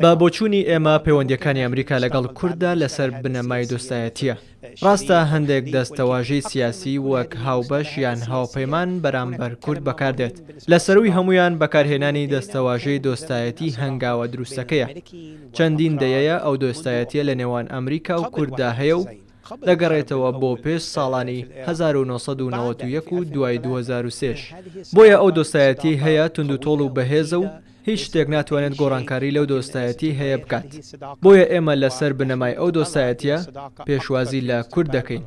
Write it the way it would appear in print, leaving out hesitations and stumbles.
بە بۆچوونی ئێمە پەیوەندییەکانی ئەمریکا لەگەڵ کورددا لەسەر بنەمای دۆستایەتییە. ڕاستە هەندێک دەستەواژەی سیاسی وەک هاوبەش یان هاوپەیمان بەرامبەر کورد بەکاردێت، لە سەرووی هەموویان بەکارهێنانی دەستەواژەی دۆستایەتی هەنگاوە دروستەکەیە. چەندین دەیەیە ئەو دۆستایەتییە لە نێوان ئەمریکا و کورددا هەیە و دەگەڕێتەوە بۆ پێش ساڵانی 1991 و دوای 2003 ش. بۆیە ئەو دۆستایەتیەی هەیە توندوتۆڵ و بەهێزە و هیچ شتێک ناتوانێت گۆڕانکاری لەو دۆستایەتیەی هەیە بکات. بۆیە ئێمە لەسەر بنەمای ئەو دۆستایەتیە پێشوازی لە کورد دەکەین.